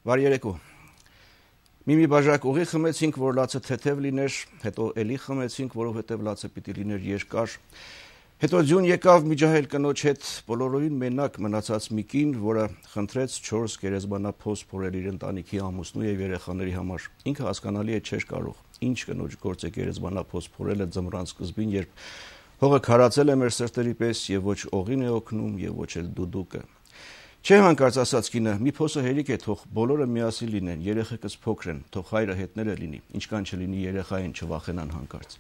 Բարի երեկո։ Մի բաժակ ուղի խմեցինք, որ լացը թեթև լիներ, հետո էլի խմեցինք, որովհետև լացը պիտի լիներ երկար։ Հետո ձյուն եկավ միջահայել կնոջ հետ, բոլորովին մենակ մնացած մի կին, որը խնդրեց 4 գերեզմանափոս փորել իր ընտանիքի ամուսնու եւ երեխաների համար։ Ինքը հասկանալի է չէր կարող։ Ինչ կնոջ գործ է գերեզմանափոս փորելը ձմռան սկզբին, երբ հողը քարացել է մեր սրտերի պես եւ ոչ օղին է օգնում եւ ոչ էլ դուդուկը։ Չէ հանկարծ ասաց կինը, մի փոսը հերիք է, թող բոլորը միասին լինեն, երեխեքս փոքր են, թող հայրը հետները լինի, ինչքան չլինի երեխային չվախենան հանկարծ։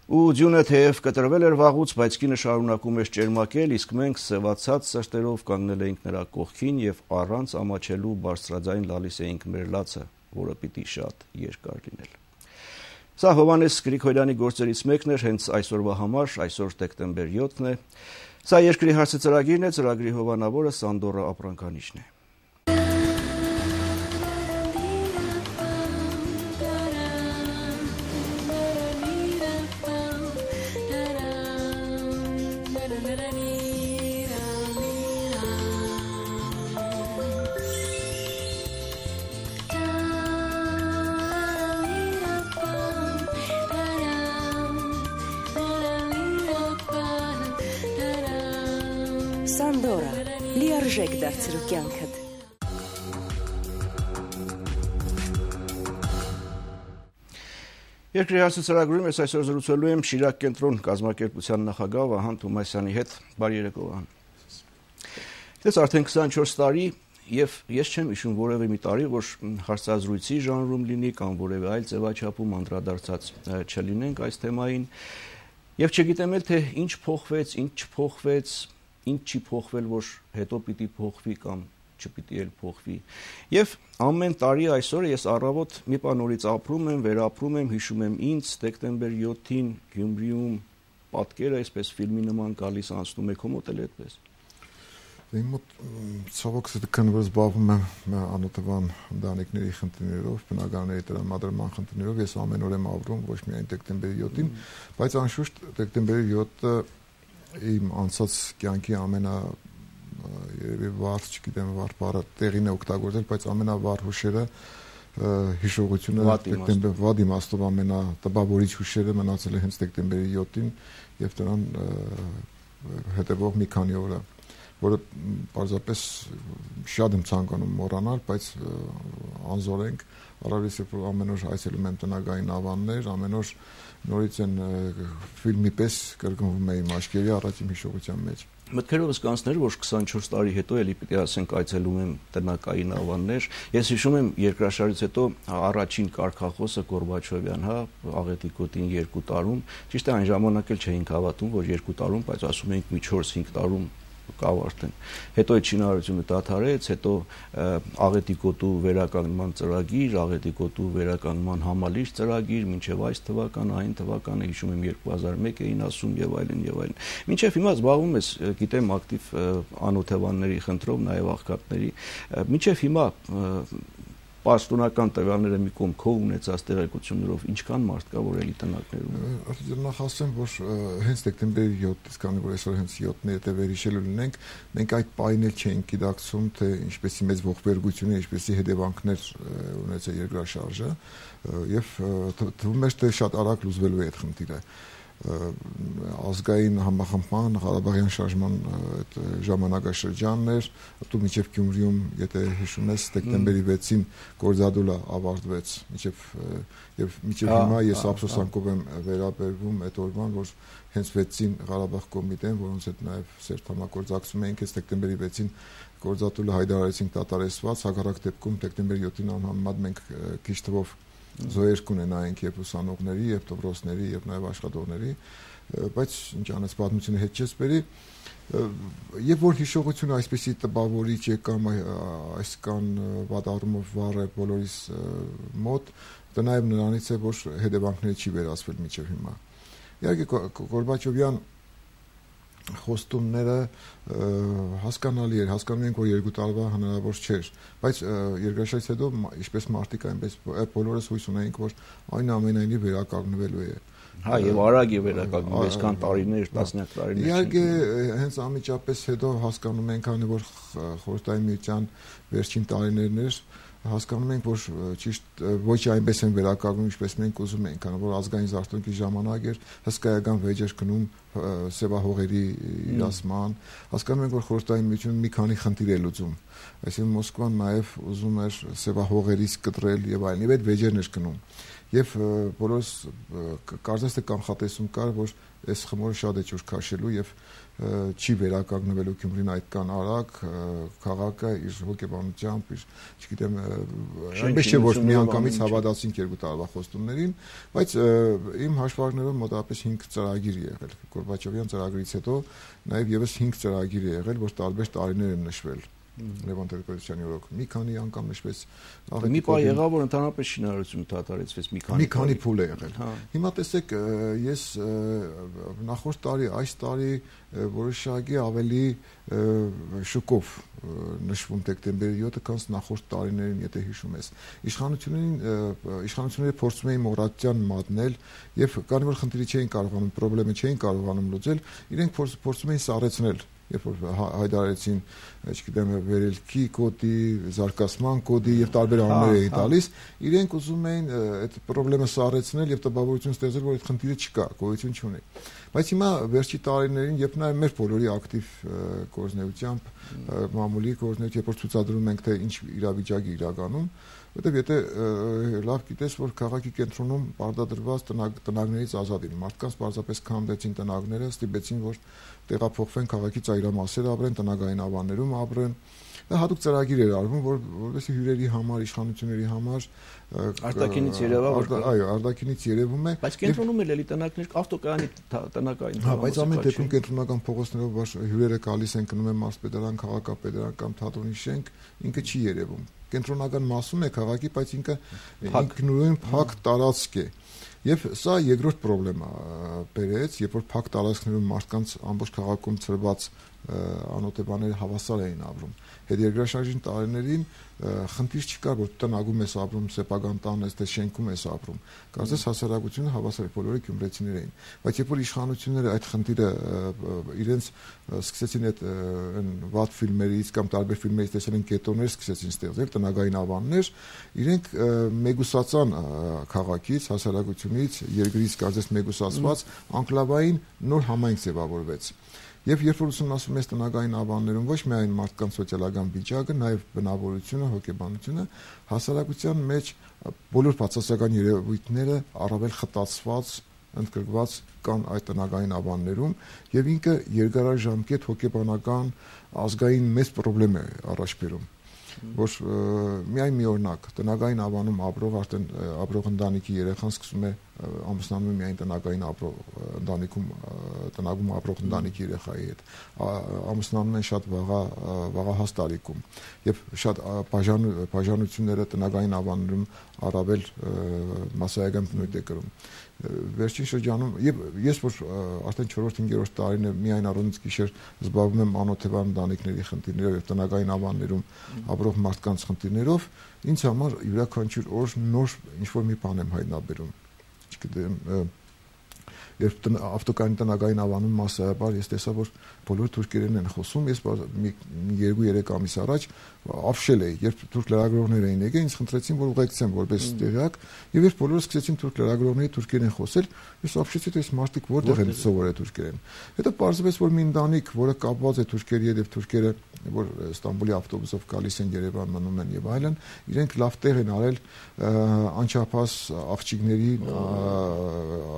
Ու ձյունը թեև կտրվել էր վաղուց, բայց կինը շարունակում էր ճերմակել, իսկ մենք սևացած սրտերով կանգնել էինք նրա կողքին եւ առանց ամաչելու բարձրաձայն լալիս էինք մեր լացը, որը պիտի շատ երկար լինել։ Սա Հովհաննես Գրիգորյանի գործերից մեկն էր հենց այսօրվա համար, այսօր դեկտեմբեր 7-ն է։ Սա երկրի հարցը ծրագիրն է, ծրագրի հովանավորը Սանդորա Ապրանքանիչն է։ Սանդորա, լիարժեք դարձրու կյանքդ։ Երկրի հարցը ծրագրում ես այսօր զրուցելու եմ Շիրակ կենտրոն կազմակերպության նախագահ Վահան Թոմասյանի հետ։ Բարի երեկո, Վահան։ Դες արդեն 24 տարի եւ ես չեմ հիշում որևէ մի տարի, որ հարցազրույցի ժանրում լինի կամ որևէ այլ ձևաչափում անդրադարձած չլինենք այս թեմային։ Եվ չգիտեմ էլ թե ինչ փոխվեց, ինչ չփոխվեց, ինչ չի փոխվել, որ հետո պիտի փոխվի կամ չպիտի էլ փոխվի։ Եվ ամեն տարի այսօրը ես առավոտ մի բան նորից ապրում եմ, վերապրում եմ, հիշում եմ ինձ դեկտեմբեր 7-ին Գյումրիում պատկերը այսպես ֆիլմի նման գալիս անցնում է, քո մոտ էլ այդպես։ Իմ մոտ ցավոք սրտական որ զբաղվում եմ անօթևան ընտանիքների խնդիրներով, բնակարանների տրամադրման խնդիրներով, ես ամեն օր եմ ապրում ոչ միայն դեկտեմբերի 7-ին, բայց անշուշտ դեկտեմբերի 7-ը իմ անցած կյանքի երևի վառ, չգիտեմ, վառ բառը տեղին է օգտագործել, բայց ամենավառ հուշերը հիշողությունը դեկտեմբեր վատ իմաստով ամենատպավորիչ հուշերը մնացել է հենց դեկտեմբերի 7-ին եւ դրան հետեւող մի քանի օրը, որը պարզապես շատ եմ ցանկանում մոռանալ, բայց անզորենք առավելից երբ ամեն օր այցելում եմ տնագային ավաններ, ամեն օր նորից են ֆիլմի պես կրկնվում է իմ աչքերի առաջ իմ հիշողության մեջ։ Մտքերովս կանցներ, որ 24 տարի հետո էլի պիտի ասենք այցելում եմ տնակային ավաններ։ Ես հիշում եմ երկրաշարժից հետո առաջին կարգախոսը Գորբաչովյան, աղետի գոտին 2 տարում, ճիշտ է այն ժամանակ էլ չէինք հավատում, որ 2 տարում, բայց ասում էինք մի 4-5 տարում կավ արդեն։ Հետո այդ շինարարությունը դադարեց, հետո աղետի գոտու վերականգնման ծրագիր, աղետի գոտու վերականգնման համալիր ծրագիր, մինչև այս թվականը, այն թվականը, հիշում եմ 2001 էին ասում եւ այլն եւ այլն։ Մինչև հիմա զբաղվում ես, գիտեմ, ակտիվ անօթևանների խնդրով, նաեւ աղքատների։ Մինչև հիմա պաշտոնական տվյալները մի կողմ քո ունեցած տեղեկություններով ինչքան մարդ կա որ էլի տնակներում։ Նախ ասեմ, որ հենց դեկտեմբերի 7-ից, քանի որ այսօր հենց 7-ն է, եթե վերհիշելու լինենք, մենք այդ պահին էլ չէինք գիտակցում, թե ինչպեսի մեծ ողբերգություն է, ինչպեսի հետևանքներ ունեցել երկրաշարժը, եւ թվում էր թե շատ արագ լուծվելու է այդ խնդիրը։ Ազգային համախմբման, Ղարաբաղյան շարժման այդ ժամանակաշրջանն էր, դու մինչև Գյումրիում, եթե հիշում ես, դեկտեմբերի 6-ին գործադուլը ավարտվեց, եւ մինչև հիմա ես ափսոսանքով եմ վերաբերվում այդ օրվան, որ հենց 6-ին Ղարաբաղ կոմիտեն, որոնց հետ նաեւ սերտ համագործակցում էինք, հենց դեկտեմբերի 6-ին գործադուլը հայտարարեցինք դատարեցված, հակառակ դեպքում դեկտեմբերի 7-ին անհամեմատ մենք քիչ թվով զոհեր կունենայինք եւ ուսանողների, եւ դպրոցների, եւ նաեւ աշխատողների, բայց ինչ անես պատմությունը հետ չես բերի, եւ որ հիշողությունը այսպեսի տպավորիչ է կամ այս կան վատառումով վառ է բոլորիս մոտ, դա նաեւ նրանից է, որ հետևանքները չի վերացվել մինչեւ հիմա։ Իհարկե Գորբաչովյան խոստումները հասկանալի էր, հասկանում ենք, որ 2 տարվա հնարավոր չէր, բայց երկրաշարժից հետո ինչպես մարդիկ այնպես բոլորս հույս ունեինք, որ այնուամենայնիվ վերականգնվելու է Հա, եւ արագ է վերականգնում, այսքան տարիներ, տասնյակ տարիներ։ Իհարկե, հենց անմիջապես հետո հասկանում ենք, քանի որ խորհրդային միության վերջին տարիներն էր, հասկանում ենք, որ ճիշտ ոչ այնպես են վերականգնում, ինչպես մենք ուզում ենք, քանի որ ազգային զարթոնքի ժամանակ էր հսկայական վեճ էր գնում սևահողերի իրացման, հասկանում ենք, որ խորհրդային միությունը մի քանի խնդիր է լուծում, այսինքն Մոսկվան նաև ուզում էր սևահողերից կտրել եւ այլն, եւ այդ վեճերն էր գնում, եւ բոլորս կարծես թե կանխատեսում կար, որ այս խմորը շատ է ջուր քաշելու եւ չի վերականգնվելու Գյումրին այդքան արագ, քաղաքը իր հոգեբանությամբ, իր, չգիտեմ, այնպես չէ, որ միանգամից հավատացինք 2 տարվա խոստումներին, բայց իմ հաշվարկներով մոտավորապես 5 ծրագիր եղել, Գորբաչովյան ծրագրից հետո նաև եւս 5 ծրագիր եղել, որ տարբեր տարիներ են նշվել։ Լևոն Տեր-Պետրոսյանի օրոք մի քանի անգամ նշվեց մի բան եղավ, որ ընդհանրապես շինարարություն դադարեցվեց մի քանի փուլ է եղել։ Հիմա տեսեք, ես նախորդ տարի, այս տարի որոշակի ավելի շուկով նշվում դեկտեմբերի 7-ը, քան նախորդ տարիներին, եթե հիշում ես։ Իշխանությունները փորձում էին մոռացության մատնել եւ քանի որ խնդիրը չէին կարողանում, խնդրեմը չէին կարողանում լուծել, իրենք փորձում էին սառեցնել երբ որ հայտարարեցին, չգիտեմ, վերելքի կոդի, զարգացման կոդի եւ տարբեր անուններ էին տալիս, իրենք ուզում էին այդ խնդրեմը սառեցնել եւ տպավորություն ստեղծել, որ այդ խնդիրը չկա, գոյություն չունի։ Բայց հիմա վերջի տարիներին, երբ նաեւ մեր բոլորի ակտիվ գործնեությամբ, մամուլի գործնեությամբ, երբ որ ցուցադրում ենք, թե ինչ իրավիճակի իրականում, որտեղ եթե լավ գիտես, որ քաղաքի կենտրոնում բարդադրված տնագներից ազատ են, մարդկանց պարզապես քանդեցին տնագները, ստիպեցին, որ տեղափոխվեն քաղաքի ծայրամասեր ապրեն, տնագային ավաններում ապրեն։ Դա հատուկ ծրագիր էր արվում, որովհետեւ հյուրերի համար, իշխանությունների համար արտաքինից երևա, այո, արտաքինից երևում է, բայց կենտրոնում էլ էլի տնակներ, ավտոկայանի տնակային։ Հա, բայց ամեն դեպքում կենտրոնական փողոցներով հյուրերը գալիս են, գնում են մարզպետարան, քաղաքապետարան կամ թատրոնի շենք, ինքը չի երևում։ Կենտրոնական մասում է քաղաքի, բայց ինքնուրույն փակ տարածք է։ Եվ սա երկրորդ խնդրեմա բերեց, երբ որ փակ տարածքներում մարդկանց ամբողջ քաղաքում ծրված անօթեբաները հավասար էին ապրում։ Հետերգրաշարժին տարիներին խնդիր չկար, որ տնագում ես ապրում, սեփական տան ես, թե շենքում ես ապրում։ Կարծես հասարակությունը հավասար է, բոլորը գյումրեցիներ էին։ Բայց երբ որ իշխանությունները այդ խնդիրը իրենց սկսեցին այդ վատ ֆիլմերից կամ տարբեր ֆիլմերից տեսել են կետոններ, սկսեցին ստեղծել տնագային ավաններ, իրենք մեգուսացան քաղաքից, հասարակությունից, երկրից կարծես մեգուսացված անկլավային նոր համայնք ձևավորվեց։ Եվ երբ որ ուսումնասիրում ես տնագային ավաններում ոչ միայն մարդկանց սոցիալական վիճակը, նաև բնավորությունը, հոգեբանությունը, հասարակության մեջ բոլոր բացասական երևույթները առավել խտացված, ընդգրկված կան այդ տնագային ավաններում, եւ ինքը երկարաժամկետ հոգեբանական ազգային մեծ խնդրեմ է առաջ բերում։ Որ միայն մի օրինակ տնագային ավանում ապրող ընտանիքի երեխան սկսում է ամուսնանում միայն տնագային ընտանիքում տնագում ապրող ընտանիքի երեխայի հետ, ամուսնանում են շատ վաղահաս տարիքում եւ շատ բաժանությունները տնագային ավաններում առավել մասսայական բնույթ է կրում։ Վերջին շրջանում եւ ես որ արդեն 4-5-րդ տարին է միայն առանց գիշեր զբաղվում եմ անօթեբան ընտանիքների խնդիրներով եւ տնագային ավաններում ապրող մարդկանց խնդիրներով, ինձ համար յուրաքանչյուր օր նոր ինչ-որ մի բան եմ հայտնաբերում։ Չգիտեմ, երբ ավտոկայանի տնագային ավանում մասսայաբար ես տեսա, որ բոլորը թուրքերեն են խոսում, ես 2-3 ամիս առաջ ապշել էի, երբ թուրք լրագրողներ էին եկել, ինձ խնդրեցին, որ ուղեկցեմ որպես տեղյակ, եւ երբ բոլորը սկսեցին թուրք լրագրողների թուրքերեն խոսել, ես ապշեցի, թե այս մարդիկ որտեղ են սովորել թուրքերեն։ Հետո պարզվեց, որ մի ընտանիք, որը կապված է թուրքերի հետ եւ թուրքերը, որ Ստամբուլի ավտոբուսով գալիս են Երևան, մնում են եւ այլն, իրենք լավ տեղ են արել անչափահաս աղջիկների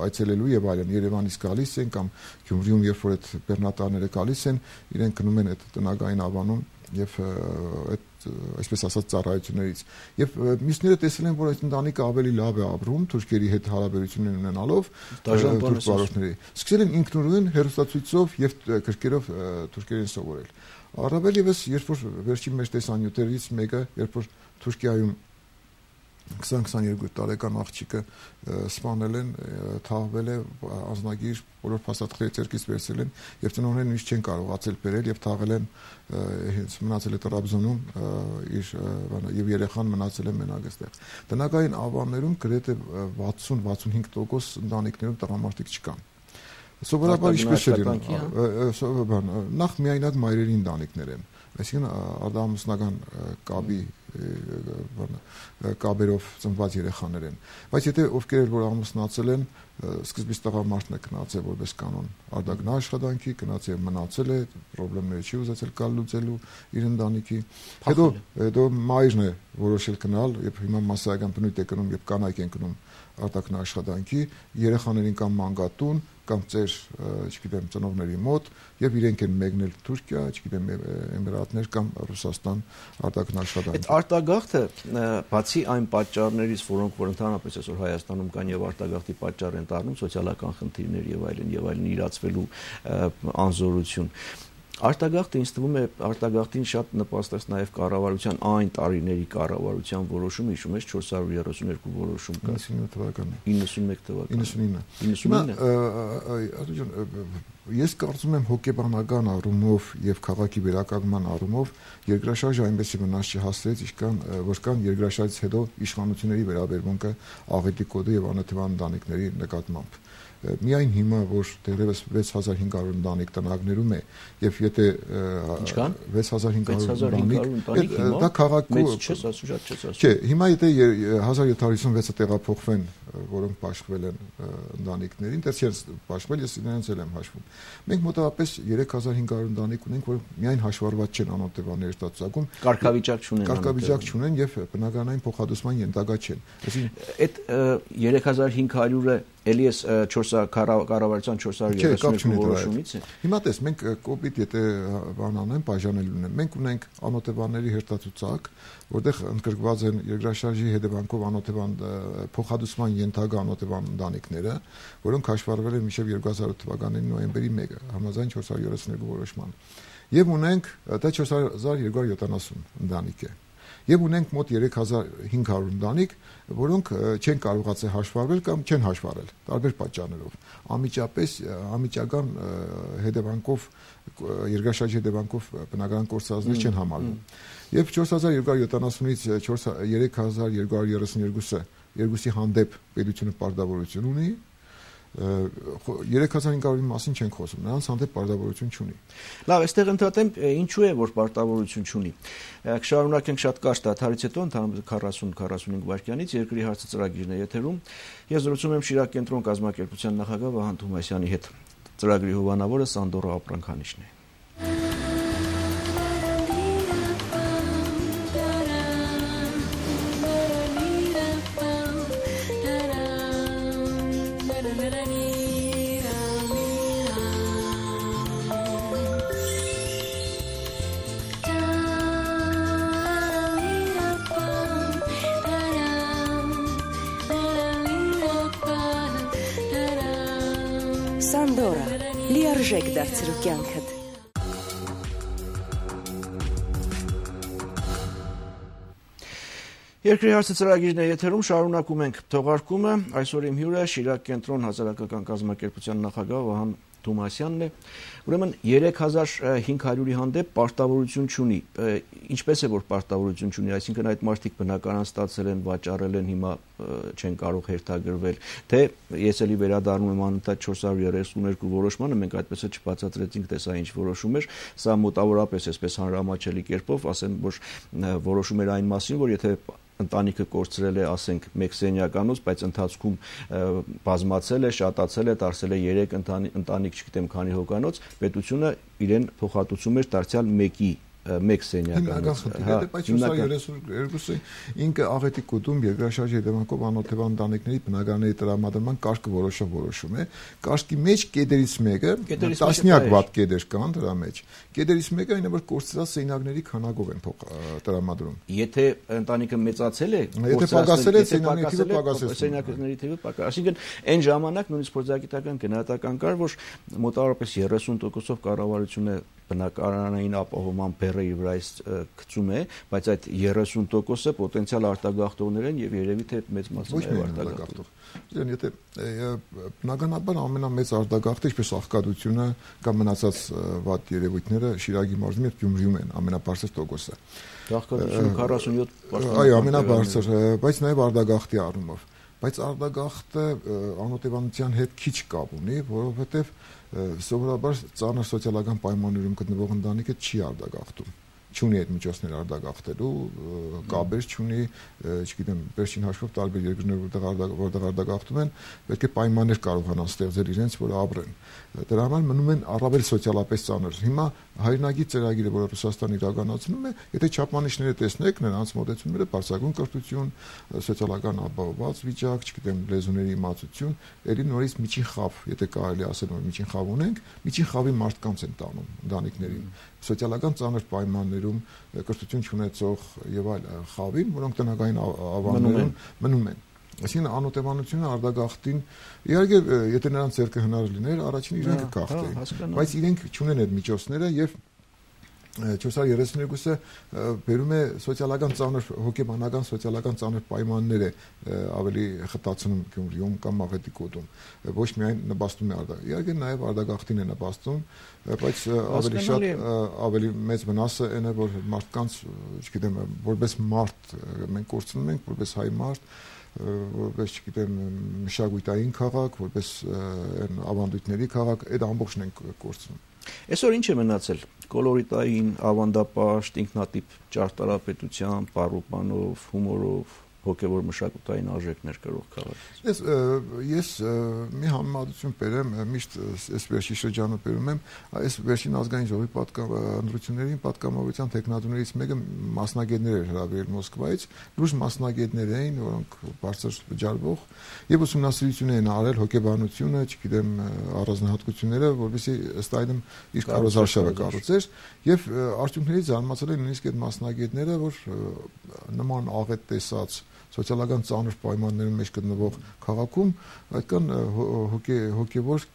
այցելելու եւ այլն, Երևանից գալիս են կամ Գյումրիում երբ որ այդ բեռնատարները գալիս են, իրենք գնում են այդ տնագային ավանում եւ այդ այսպես ասած ծառայություններից եւ մյուսները տեսել են, որ այդ ընտանիքը ավելի լավ է ապրում թուրքերի հետ հարաբերություններ ունենալով թուրք վարորդների, սկսել են ինքնուրույն հերոստացույցով եւ գրքերով թուրքերեն սովորել։ Առավել եւս երբ որ վերջին մեր տեսանյութերից մեկը, երբ որ Թուրքիայում 20-22 տարեկան աղջիկը սպանել են, թաղվել է, անձնագիր բոլոր փաստաթղթերը ձեռքից վերցրել են եւ ծնողները նույնիսկ չեն կարողացել բերել եւ թաղել են, մնացել է Տրաբզոնում եւ երեխան մնացել է մենակ այստեղ։ Տնական ավաններում գրեթե 60-65% ընտանիքներում տղամարդիկ չկան։ Սովորաբար ինչպես է լինում, նախ միայնակ մայրերի ընտանիքներ են, այսինքն արտահամուսնական կաբերով ծնված երեխաներ են, բայց եթե ովքեր որ ամուսնացել են, սկզբից տղամարդն է գնացել որպես կանոն արտագնա աշխատանքի, գնացել մնացել է, խնդիրները չի ուզեցել կալ լուծելու իր ընտանիքի, հետո մայրն է որոշել գնալ եւ հիմա մասսայական բնույթ է կնում եւ կանայք են գնում արտագնա աշխատանքի, երեխաներին կամ մանկատուն կամ ծեր, չգիտեմ, ծնողների մոտ եւ իրենք են մեկնել Թուրքիա, չգիտեմ, Էմիրատներ կամ Ռուսաստան արտագնա աշխատանքի։ Այդ արտագաղթը բացի այն պատճառներից, որոնք որ ընդհանրապես այսօր Հայաստանում կան եւ արտագաղթի պատճառ են դառնում սոցիալական խնդիրներ եւ այլն իրացվելու անզորություն, արտագաղթը ինձ թվում է արտագաղթին շատ նպաստեց նաև կառավարության այն տարիների կառավարության որոշումը, հիշում ես 432 որոշում կա 91 թվականին 99 ես կարծում եմ հոգեբանական առումով եւ քաղաքի վերականգնման առումով երկրաշարժը այնպեսի վնաս չհասցրեց, որքան երկրաշարժից հետո իշխանությունների վերաբերմունքը աղետի կոդի եւ անօթեվան ընտանիքների նկատմամբ։ Միայն հիմա որ դեռևս 6500 ընտանիք տնագներում է եւ եթե 6500 ընտանիք դա քաղաքում չէ, հիմա եթե 1756-ը տեղափոխվեն, որոնք բաշխվել են ընտանիքներին, դեռ չեն բաշխվել, ես իրենց էլ եմ հաշվում։ Մենք մոտավորապես 3500 ընտանիք ունենք, որ միայն հաշվառված չեն անօթեվանների ստատուսակում, կարգավիճակ չունեն եւ բնականային փոխհատուցման ենթակա չեն։ Այսինքն 3500-ը էլի էս 4 կառավարության 432 որոշումից է։ Հիմա տես, մենք կոպիտ եթե բան անենք, բաժանել ունենք։ Մենք ունենք անօթեվանների հերթացուցակ, որտեղ ընդգրկված են երկրաշարժի հետևանքով անօթեվան փոխհատուցման ենթակա անօթեվան ընտանիքները, որոնք հաշվառվել են մինչև 2008 թվականի նոյեմբերի 1-ը, համաձայն 432 որոշման։ Եվ ունենք դա 4270 ընտանիք է։ Եվ ունենք մոտ 3500 ընտանիք, որոնք չեն կարողացել հաշվառվել կամ չեն հաշվառել տարբեր պատճառներով։ Անմիջական հետևանքով երկրաշարժի հետևանքով բնական կորցածներ չեն համարվում։ Եւ 4270-ից 3232-ը երկուսի հանդեպ պետությունը պարտավորություն ունի, 3500-ի մասին չենք խոսում, նրանց հանդեպ պարտավորություն չունի։ Լավ, այստեղ ընդհատեմ, ինչու է որ պարտավորություն չունի։ Կշարունակենք շատ կարճ դադարից հետո, ընդհանրապես 40-45 վայրկյանից երկրի հարցը ծրագիրն է եթերում։ Ես զրուցում եմ Շիրակ կենտրոն կազմակերպության նախագահ Վահան Թումասյանի հետ։ Ծրագրի հովանավորը Սանդորա Ապրանքանիշն է։ Սանդորա, լիարժեք դարձրու կյանքդ։ Երկրի հարցը ծրագիրն է եթերում, շարունակում ենք թողարկումը, այսօր իմ հյուրը Շիրակ կենտրոն հասարակական կազմակերպության նախագահ Վահան Թումասյանն է, ուրեմն 3500-ի հանդեպ պարտավորություն չունի, ինչպես է որ պարտավորություն չունի, այսինքն այդ մարդիկ բնականon ստացել են, վաճառել են, հիմա չեն կարող հերթագրվել, թե ես էլի վերադառնում եմ անընդհատ 432 որոշմանը, մենք այդպես է չբացատրեցինք, թե սա ինչ որոշում էր, սա մոտավորապես այսպես հանրամատչելի կերպով, ասեմ, որ որոշում էր այն մասին, որ եթե ընտանիքը կորցրել է, ասենք, 1 սենյականոց, բայց ընթացքում բազմացել է, շատացել է, դարձել է 3 ընտանիք, չգիտեմ, քանի հոգանոց, պետությունը իրեն փոխհատուցում էր դարձյալ 1 սենյականոց։ Բայց 432-ը ինքը աղետի կոդում երկրաշարժի հետևանքով անօթեվան ընտանիքների բնականների տրամադրման կարգը որոշում է։ Կարգի մեջ կետերից մեկը, տասնյակ վատ կետեր կան դրա մեջ։ Կետերից մեկը այն է, որ կորցրած սենյակների քանակով են տրամադրում։ Եթե ընտանիքը մեծացել է, եթե պակասել է, սենյակների թիվը պակասել։ Այսինքն այն ժամանակ նույնիսկ փորձագիտական գնահատական կար, որ մոտավորապես 30%-ով կառավարությունը բնակարանային ապահովման բեռը իր վրայից գցում է, բայց այդ 30%-ը պոտենցիալ արտագաղթողներ են եւ երևի թե մեծ մասը արտագաղթող։ Եթե բնականաբար ամենամեծ արտագաղթը, ինչպես աղքատությունը կամ մնացած վատ երևույթները Շիրակի մարզում եւ Գյումրիում են ամենաբարձր տոկոսը։ Աղքատությունը 47%։ Այո, ամենաբարձր, բայց նաեւ արտագաղթի առումով։ Բայց արտագաղթը անօթևանության հետ քիչ կապ ունի, որովհետեւ սովորաբար ծանր սոցիալական պայմաններում գտնվող ընտանիքը չի արտագաղթում, չունի այդ միջոցներ արտագաղթելու, կապեր չունի, չգիտեմ, վերջին հաշվով տարբեր երկրներ, որտեղ արտագաղթում են, պետք է պայմաններ կարողանան ստեղծել իրենց, որ ապրեն։ Դրա համար մնում են առավել սոցիալապես ծանր։ Հիմա հայրենագիր ծրագիրը, որը Ռուսաստանը իրականացնում է, եթե չափանիշները տեսնեք, նրանց մոտեցումները բարձրագույն կրթություն, սոցիալական ապահովված վիճակ, չգիտեմ, լեզուների իմացություն, ելի նորից միջին խավ, եթե կարելի ասել, որ միջին խավ ունենք, միջին խավի մարդկանց են տանում ընտանիքներին, սոցիալական ծանր պայմաններում կրթություն չունեցող եւ այլ խավին, որոնք տնական ավանդներում մնում են։ Այսինքն անօթևանությունը արտագաղթին, իհարկե, եթե նրանց ձեռքը հնար լիներ, առաջին իրենք կգաղթեին, բայց իրենք չունեն այդ միջոցները եւ 432-ը բերում է սոցիալական ծանր հոգեբանական սոցիալական ծանր պայմաններ է ավելի խտացնում Գյումրիում կամ Մաղետիկոտում, ոչ միայն նպաստում է իհարկե նաև արտագաղթին է նպաստում, բայց ավելի շատ ավելի մեծ վնասը այն է, որ մարդկանց, չգիտեմ, որպես մարդ մենք կորցնում ենք, որպես հայ մարդ, որպես, չգիտեմ, մշակութային քաղաք, որպես ավանդույթների քաղաք, այդ ամբողջն ենք կորցնում։ Այսօր ինչ է մնացել կոլորիտային, ավանդապաշտ, ինքնատիպ ճարտարապետությամբ, պարուպանով, հումորով, հոգևոր մշակութային արժեքներ կրող քաղաք։ Ես մի համեմատություն բերեմ, միշտ այս վերջի շրջանը բերում եմ, այս վերջին ազգային ժողովի ընտրություններին պատգամավորության տեխնատուներից մեկը մասնագետներ էր հրավիրել Մոսկվայից, լուրջ մասնագետներ էին, որոնք բարձր վճարվող եւ ուսումնասիրություն էին արել հոգեբանությունը, չգիտեմ, առանձնահատկությունները, որովհետեւ ըստ այդմ իր կարոզարշավը կառուցեր եւ արդյունքներից զարմացել են նույնիսկ այդ մասնագետները, որ նման աղետ տեսած սոցիալական ծանր պայմանների մեջ գտնվող քաղաքում այդքան հոգևոր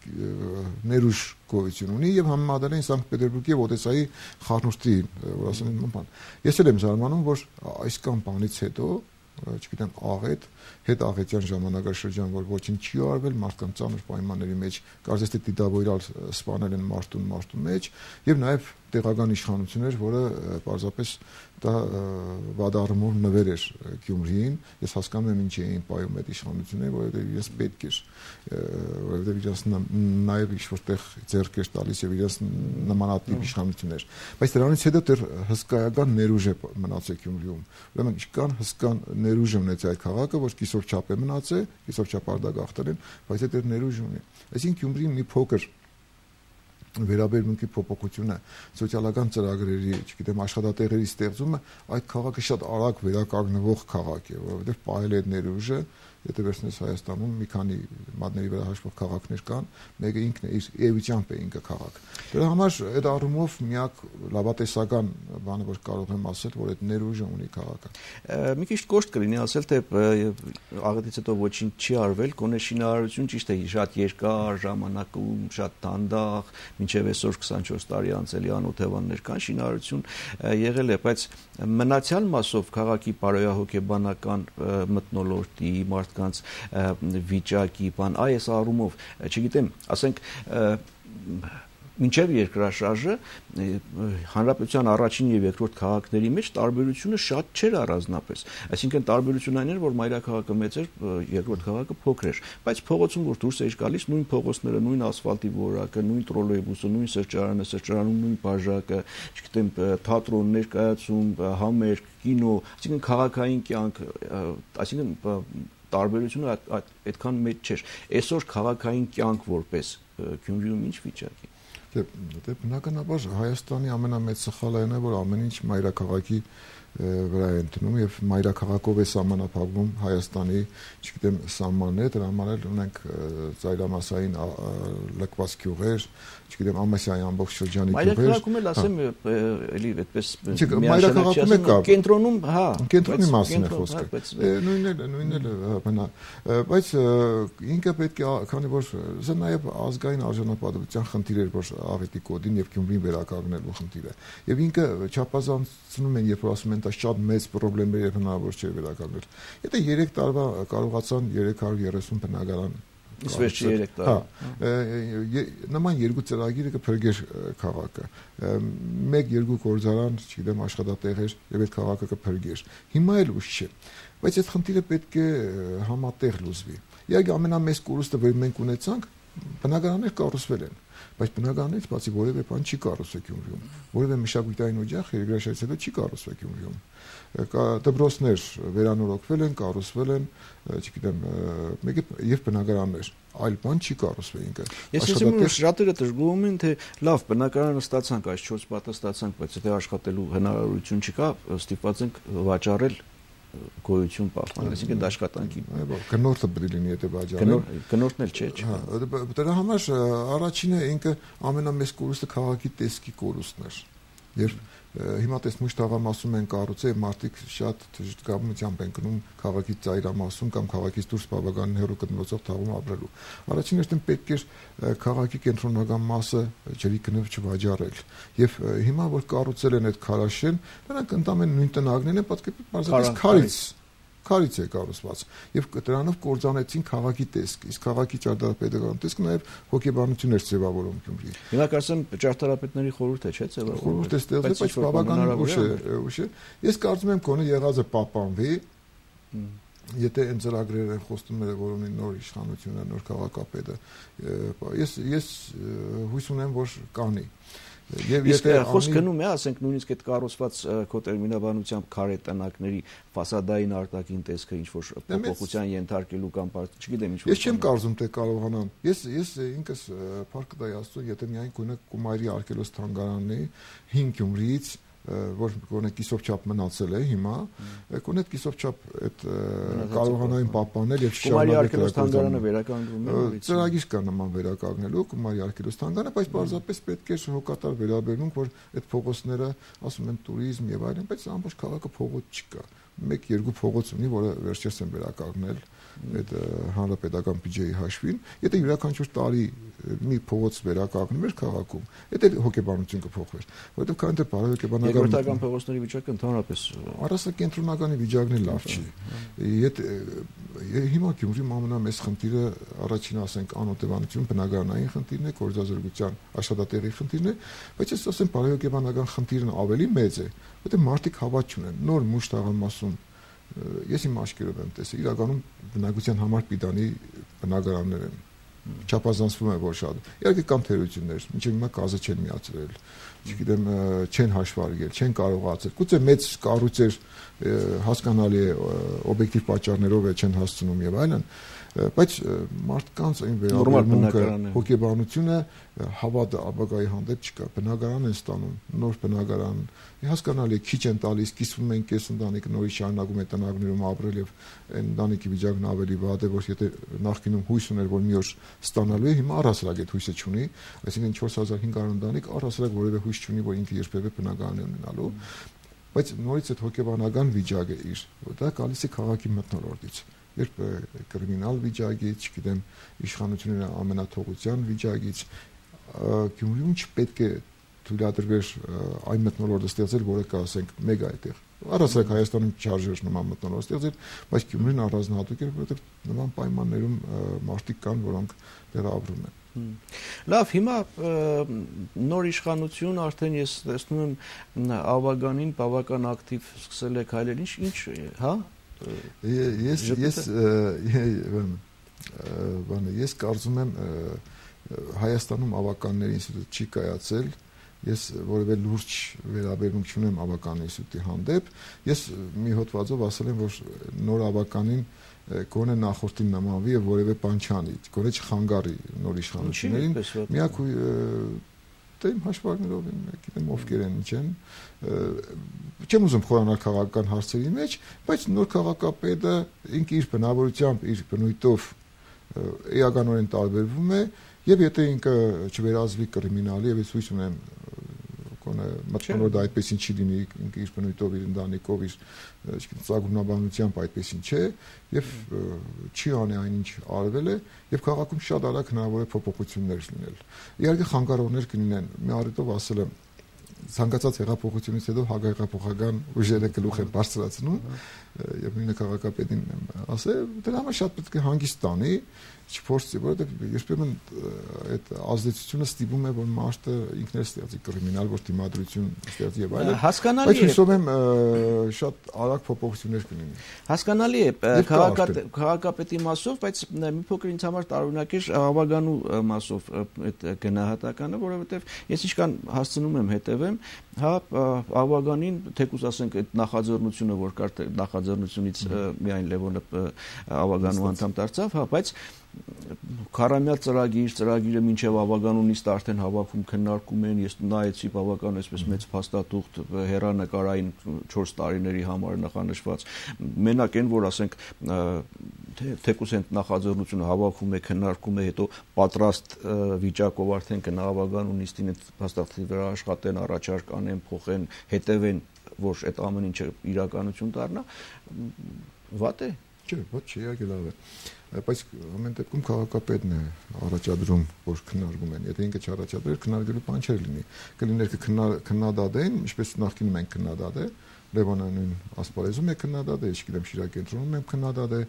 ներուժ գոյություն ունի եւ համեմատել են Սանկտ Պետերբուրգի եւ Օդեսայի խառնուրդի, որ ասում են բան։ Ես էլ եմ զարմանում, որ այսքան բանից հետո, չգիտեմ, աղետ, հետաղետյան ժամանակաշրջան, որ ոչինչ չի արվել, մարդկանց ծանր պայմանների մեջ, կարծես թե դիտավորյալ սպանել են մարդուն մեջ եւ նաեւ տեղական իշխանություններ, որը պարզապես դա վադարումով նվեր էր Գյումրիին, ես հասկանում եմ ինչ էին պայում այդ իշխանությունները, որովհետև իրենց պետք էր, որովհետև իրենց նաև ինչ-որտեղ ձեռք էր տալիս եւ իրենց նմանատիպ իշխանություններ, բայց դրանից հետո դեռ հսկայական ներուժ է մնացել Գյումրիում, ուրեմն ինչքան հսկան ներուժ ունեցել այդ քաղաքը, որ կիսով չափ է մնացել, կիսով չափ արտագաղթել են, բայց այդ ներուժ ունի, այսինքն Գյումրին մի փոքր վերաբերմունքի փոփոխությունը, սոցիալական ծրագրերի, չգիտեմ, աշխատատեղերի ստեղծումը, այդ քաղաքը շատ արագ վերականգնվող քաղաք է, որովհետև պահել է այդ ներուժը, եթե վերցնես Հայաստանում մի քանի մատների վրա հաշվող քաղաքներ կան, մեկը ինքն է իր էությամբ է ինքը քաղաք։ Դրա համար այդ առումով միակ լավատեսական բանը, որ կարող եմ ասել, որ այդ ներուժը ունի քաղաքը։ Մի քիչ կոշտ կլինի ասել, թե աղետից հետո ոչինչ չի արվել, գոնե շինարարություն ճիշտ է շատ երկար ժամանակում, շատ դանդաղ, մինչև այսօր 24 տարի անցելի անօթևաններ կան, շինարարություն եղել է, բայց մնացյալ մասով քաղաքի բարոյահոգեբանական մթնոլորտի, մարդկանց վիճակի, բան, այս առումով, չգիտեմ, ասենք մինչև երկրաշարժը հանրապետության առաջին եւ երկրորդ քաղաքների մեջ տարբերությունը շատ չէր առանձնապես, այսինքն տարբերությունն այն էր, որ մայրաքաղաքը մեծ էր, երկրորդ քաղաքը փոքր էր, բայց փողոցում որ դուրս էր գալիս, նույն փողոցները, նույն ասֆալտի որակը, նույն տրոլեյբուսը, նույն սրճարանը, սրճարանում նույն բաժակը, չգիտեմ, թատրոն, ներկայացում, համերգ, կինո, այսինքն քաղաքային կյանք, այսինքն տարբերությունը այդքան մեծ չէր։ Այսօր քաղաքային կյանք որպես Գյումրիում ինչ վիճակ է։ Դե բնականաբար Հայաստանի ամենամեծ սխալը այն է, որ ամեն ինչ մայրաքաղաքի վրա է ընդունում եւ մայրաքաղաքով է սահմանափակվում Հայաստանի, չգիտեմ, սահմանները, դրա համար էլ ունենք ծայրամասային լքված գյուղեր, չգիտեմ, Ամասիայի ամբողջ շրջանի գյուղեր։ Մայրաքաղաքում էլ ասեմ էլի այդպես մայրաքաղաքում է կա։ Կենտրոնում, հա, կենտրոնի մասին է խոսքը։ Նույնն էլ բնա, բայց ինքը պետք է, քանի որ սա նաեւ ազգային արժանապատվության խնդիր էր, որ աղետի կոդին եւ Գյումրին վերականգնելու խնդիր է։ Եվ ինքը չափազանցնում են, երբ որ ասում են, դա շատ մեծ խնդիրներ եւ հնարավոր չէ վերականգնել։ Եթե 3 տարվա կարողացան 330 բնակարան իսկ վերջի 3 տարի։ Նման երկու ծրագիրը կփրկեր քաղաքը։ 1-2 գործարան, չգիտեմ, աշխատատեղեր եւ այդ քաղաքը կփրկեր։ Հիմա էլ ուշ չէ։ Բայց այդ խնդիրը պետք է համատեղ լուծվի։ Իհարկե ամենամեծ կորուստը, որ մենք ունեցանք, բնակարաններ կառուցվել են, բայց բնակարաններից բացի որևէ բան չի կառուցվել Գյումրիում, որևէ մշակութային օջախ երկրաշարժից հետո չի կառուցվել Գյումրիում։ Դպրոցներ վերանորոգվել են, կառուցվել են, չգիտեմ, մեկը եւ բնակարաններ, այլ բան չի կառուցվել ինքը։ Ես ասում եմ, շատերը դժգոհում են, թե լավ, բնակարանը ստացանք, այս 4 պատը ստացանք, բայց եթե աշխատելու հնարավորություն չկա, ստիպված ենք վաճառել գոյություն պահպանել, այսինքն դա աշխատանքի գնորդը պետք է լինի, եթե վաճառել։ Գնորդն էլ չէ։ Դրա համար առաջինը ինքը ամենամեծ կորուստը քաղաքի տեսքի կորուստն էր։ Երբ հիմա տեսնուշ թաղամասում են կառուցել, մարդիկ շատ դժգամությամբ են գնում քաղաքի ծայրամասում կամ քաղաքից դուրս բավականին հեռու գտնվող թաղում ապրելու։ Առաջին հերթին պետք է քաղաքի կենտրոնական մասը ջրի գնով չվաճառել։ Եվ հիմա որ կառուցել են այդ քարաշեն, նրանք ընդամենը նույն տնագներն են, պատկերապես քարից է կառուցված եւ դրանով կործանեցին քաղաքի տեսքը, իսկ քաղաքի ճարտարապետական տեսքը նաեւ հոգեբանություն էր ձևավորում Գյումրի։ Հիմա կարծեմ ճարտարապետների խորհուրդ է, չէ՞, ձևավորում։ Խորհուրդ է ստեղծել, բայց բավականին ուշ է։ Ես կարծում եմ գոնե եղածը պահպանվի, եթե այն ծրագրերը են խոստումները, որ ունի նոր իշխանությունը, նոր քաղաքապետը։ Ես հույս ունեմ, որ կանի։ Եվ եթե խոսք գնում է, ասենք նույնիսկ այդ կառուցված քո տերմինաբանությամբ քարե տնակների ֆասադային արտաքին տեսքը ինչ որ փոփոխության ենթարկելու կամ չգիտեմ ինչ որ։ Ես չեմ կարծում թե կարողանան։ Ես ինքս Փառք Դայաստու, եթե միայն գոնե Կումայրի արկելոս թանգարանն է 5 Գյումրիից, որ գոնե կիսով չափ մնացել է հիմա, գոնե կիսով չափ այդ կարողանային պահպանել եւ շարունակել արկելոս-թանգարանը վերականգնվում է։ Ծրագիր կա նման վերականգնելու Կումայրի արկելոս-թանգարանը, բայց պարզապես պետք է հոգատար վերաբերմունք, որ այդ փողոցները, ասում են, туриզմ եւ այլն, բայց ամբողջ քաղաքը փողոց չկա։ 1-2 փողոց ունի, որը վերջերս են վերականգնել այդ հանրապետական բյուջեի հաշվին, եթե յուրաքանչյուր տարի մի փողոց վերականգնում էր քաղաքում, դա հոգեբանություն կփոխվեր, որովհետև քան դեռ բարոյական երկրորդական փողոցների վիճակը ընդհանրապես առասակենտրոնականի վիճակն էլ լավ չի։ Հիմա Գյումրիում ամենամեծ խնդիրը առաջին ասենք անօթևանություն, բնակարանային խնդիրն է, գործազրկության աշխատատեղի խնդիրն է, բայց ես ասեմ բարոյական խնդիրն ավելի մեծ է, որովհետև մարդիկ հավատ չունեն, նոր մուշ թաղամասում ես իմ աչքերով եմ տեսել, իրականում բնակության համար պիտանի բնակարաններ են, չափազանցվում է որ շատ։ Իհարկե կան թերություններ, մինչև հիմա գազը չեն միացրել, չգիտեմ, չեն հաշվարկել, չեն կարողացել։ Գուցե մեծ կառույցեր հասկանալի է օբյեկտիվ պատճառներով չեն հասցնում եւ այլն, բայց մարդկանց այն վերաբերմունքը, հոգեբանությունը, հավատը ապագայի հանդեպ չկա։ Բնակարան են ստանում, նոր բնակարան, հասկանալի է, քիչ են տալիս, կիսվում են կես ընտանիքը նորից շարունակում է տնագներում ապրել եւ այն ընտանիքի վիճակն ավելի վատ է, որ եթե նախկինում հույս ուներ, որ մի օր ստանալու է, հիմա առհասարակ այդ հույսը չունի, այսինքն 4500 ընտանիք առհասարակ որևէ հույս չունի, որ ինքը երբևէ բնակարան է ունենալու, բայց նորից այդ հոգեբանական վիճակը իր, որ դա գալիս է քաղաքի մթնոլորտից, երբ կրիմինալ վիճակից, չգիտեմ, իշխանությունների ամենաթողության վիճակից, Գյումրիում չպետք է թույլատրվեր այն մթնոլորտը ստեղծել, որը կա, ասենք, մեկ այդտեղ։ Առհասարակ Հայաստանում չարժեր նման մթնոլորտ ստեղծել, բայց Գյումրին առանձնահատուկ է, որովհետև նման պայմաններում մարդիկ կան, որոնք դեռ ապրում են։ Լավ, հիմա նոր իշխանություն արդեն ես տեսնում եմ Ավագանին բավական ակտիվ սկսել է քայլել, ինչ, հա։ Ես կարծում եմ Հայաստանում ավականների ինստիտուտ չի կայացել, ես որևէ լուրջ վերաբերմունք չունեմ ավական ինստիտուտի հանդեպ, ես մի հոդվածով ասել եմ, որ նոր ավականին գոնե նախորդին նմանվի եւ որևէ բան չանի, գոնե չխանգարի նոր իշխանություններին, միակ դե իմ հաշվարկներով գիտեմ ովքեր են ինչ են, չեմ ուզում խորանալ քաղաքական հարցերի մեջ, բայց նոր քաղաքապետը ինքը իր բնավորությամբ, իր բնույթով էականորեն տարբերվում է, եւ եթե ինքը չվերածվի կրիմինալի, եւ ես հույս ունեմ մտքնոր դա այդպեսին չի լինի, ինքը իր բնույթով, իր ընտանիքով, իր ծագումնաբանությամբ այդպեսին չէ, եւ չի անի այնինչ արվել է, եւ քաղաքում շատ արագ հնարավոր է փոփոխություններ լինել։ Իհարկե խանգարողներ կլինեն, մի առիթով ասել եմ, ցանկացած հեղափոխությունից հետո հագայղափոխական ուժերը գլուխ են բարձրացնում, եւ նույնը քաղաքապետին ասել, դրա համար շատ պետք է հանգիստ տանի, չփորձի, որովհետեւ երբեմն այդ ազդեցությունը ստիպում է, որ մարդը ինքն էլ ստեղծի կրիմինալ, որ դիմադրություն ստեղծի եւ այլն։ Հասկանալի է։ Բայց հույսով եմ շատ արագ փոփոխություններ կլինի։ Հասկանալի է քաղաքապետի մասով, բայց մի փոքր ինձ համար տարօրինակ է ավագանու մասով այդ գնահատականը, որովհետեւ ես ինչքան հասցնում եմ հետևեմ, հա ավագանին թեկուզ ասենք այդ նախաձեռնությունը, որ կար նախաձեռնությունից միայն Լևոնը ավագանու անդամ դարձավ, հա, բայց Քարամյա ծրագիրը մինչև ավագանունից արդեն հավաքում քննարկում են, ես նայեցի բավական այսպես մեծ փաստաթուղթ հեռանկարային 4 տարիների համար նախանշված, մենակ այն, որ ասենք թեկուզ են նախաձեռնությունը հավաքում է, քննարկում է, հետո պատրաստ վիճակով արդեն կնա ավագանունիստին այդ փաստաթղթի վրա աշխատեն, առաջարկ անեն, փոխեն, հետևեն, որ այդ ամեն ինչը իրականություն դառնա, վատ է։ Չէ, ոչ չի, իհարկե լավ է։ Բայց ամեն դեպքում քաղաքապետն է առաջադրում, որ քննարկում են։ Եթե ինքը չառաջադրեր, քննարկելու բան չէր լինի։ Կլիներ քննադատեն, ինչպես նախկինում են քննադատել, Լևոնը նույն ասպարեզում է քննադատել, ես չգիտեմ Շիրակենտրոնում եմ քննադատել,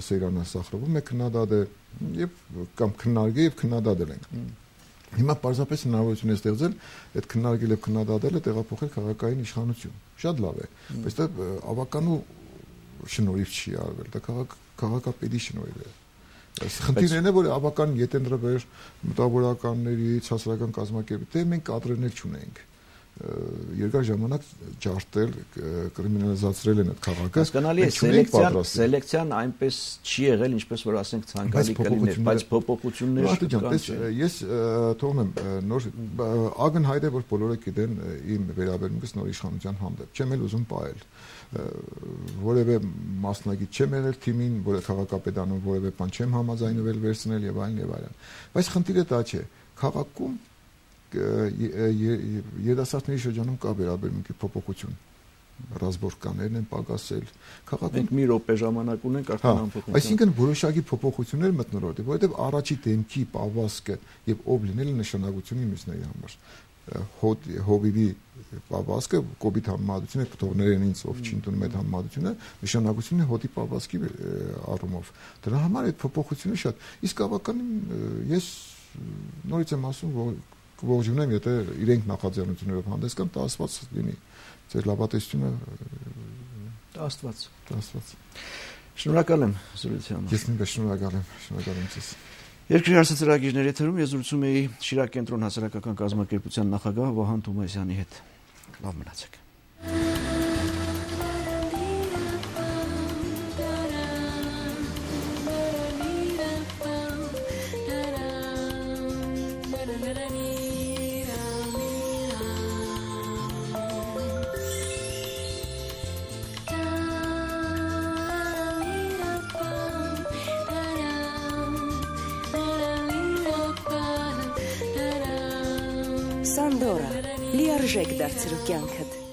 Սեյրանը Սախրովում է քննադատել, եւ կամ քննարկել եւ քննադատել ենք։ Հիմա պարզապես հնարավորություն է ստեղծել այդ քննարկել եւ քննադատելը տեղափոխել քաղաքային իշխանություն։ Շատ լավ է, բայց դա ավականու շնորհիվ չի արվել, դա քաղաքապետի շնորհիվ է։ Խնդիրն է, որ ավական ետենրվեր մտավորականներից, հասարակական կազմակերպ, դե մենք կադրերներ չունենք։ Երկար ժամանակ ջարդել, կրիմինալիզացրել են այդ քաղաքը։ Հասկանալի է, սելեկցիան այնպես չի եղել, ինչպես որ ասենք ցանկալի կլիներ, բայց փոփոխություններ կան։ Ես թողում եմ նոր ակնհայտ է, որ բոլորը գիտեն իմ վերաբերմունքս նոր իշխանության հանդեպ։ Չեմ էլ ուզում պահել։ Որևէ մասնագետ չեմ եղել թիմին, որը քաղաքապետանում որևէ բան չեմ համաձայնվել վերցնել եւ այլն եւ այլն։ Բայց խնդիրը դա չէ։ Քաղաքում երիտասարդների շրջանում կա վերաբերմունքի փոփոխություն։ Ռազմորկաներն են պակասել։ Քաղաքում մի րոպե ժամանակ ունենք արդեն ամփոփում։ Այսինքն որոշակի փոփոխություններ մտնորոտ է, որովհետեւ առաջի դեմքի պավասկը եւ ով լինելը նշանակություն ունի մյուսների համար։ Հովիվի պավասկը կոպիտ համեմատությունը կթողներեն ինձ ով չի ընդունում այդ համեմատությունը նշանակությունը հոտի պավասկի առումով դրա համար այդ փոփոխությունը շատ իսկ ավականին ես նորից եմ ասում որ կողջունեմ եթե իրենք նախաձեռնություններով հանդես կան դա աստված լինի ձեր լավատեսությունը աստված շնորհակալ եմ զրույցի համար ես նույնպես շնորհակալ եմ ձեզ Երկրի հարցը ծրագիրների եթերում ես զրուցում էի Շիրակենտրոն հասարակական կազմակերպության նախագահ Վահան Թոմասյանի հետ։ Լավ մնացեք։ Սանդորա լիարժեք դարձրու կյանքդ